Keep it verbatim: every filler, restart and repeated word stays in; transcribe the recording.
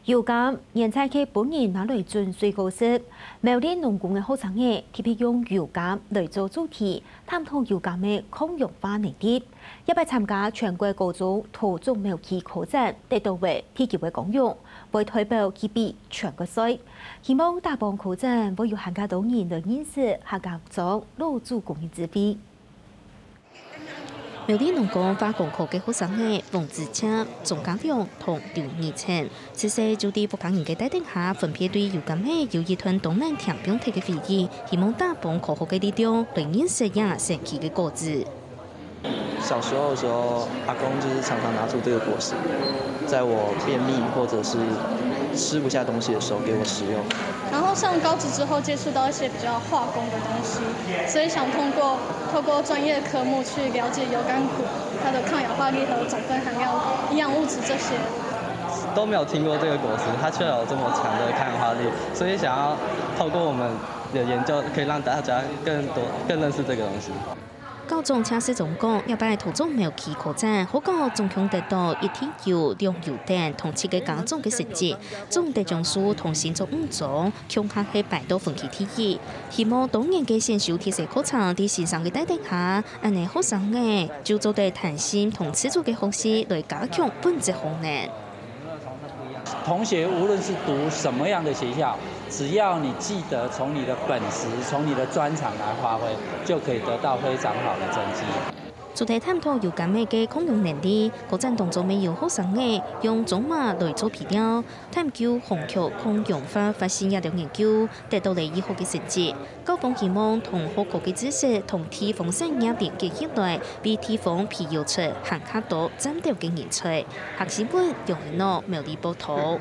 油柑原在係分人拿來準水果食，苗栗農工个學生仔特別用油柑來做主題，探討油柑个抗氧化能力，這擺參加全國高中桃種苗期科展，得到个第九个光榮，會代表佢比全國賽。希望打幫科展會有還較多人來認識客家庄老祖公个智慧。 苗栗農工化工科个學生仔黃子謙、鍾家良同劉義成，自細就在屋下人个帶領下，分別對油柑仔有一段當難填放忒个回憶，希望打幫科學个力量來認識這神奇个果子。小時候的时候，阿公就是常常拿出这个果实，在我便秘或者是吃不下东西的时候给我食用。然后上高职之后，接触到一些比较化工的东西，所以想通过透过专业科目去了解油柑果，它的抗氧化力和总分含量、营养物质这些。都没有听过这个果实，它却有这么强的抗氧化力，所以想要透过我们的研究，可以让大家更多、更认识这个东西。 校長謝世忠講，這擺桃種苗期科展，學校總共得到一等獎、兩等獎同七个加總个成績，總得獎數同新竹五中共下係排到分區第一。希望多年个選修特色課程在先生个帶領下，恁呢學生仔就做得彈性同自主个學習來加強本職功能。 同学无论是读什么样的学校，只要你记得从你的本职、从你的专长来发挥，就可以得到非常好的成绩。除了探讨油柑仔个抗氧能力，科展當中乜有學生仔用苧麻來做肥料，探究紅麴抗氧化發生這條研究，得到了醫學个成績。 校方希望同學科个知識同地方產業連結起來，為地方培育出還較多尖端个人才。客新聞楊一諾苗栗報導。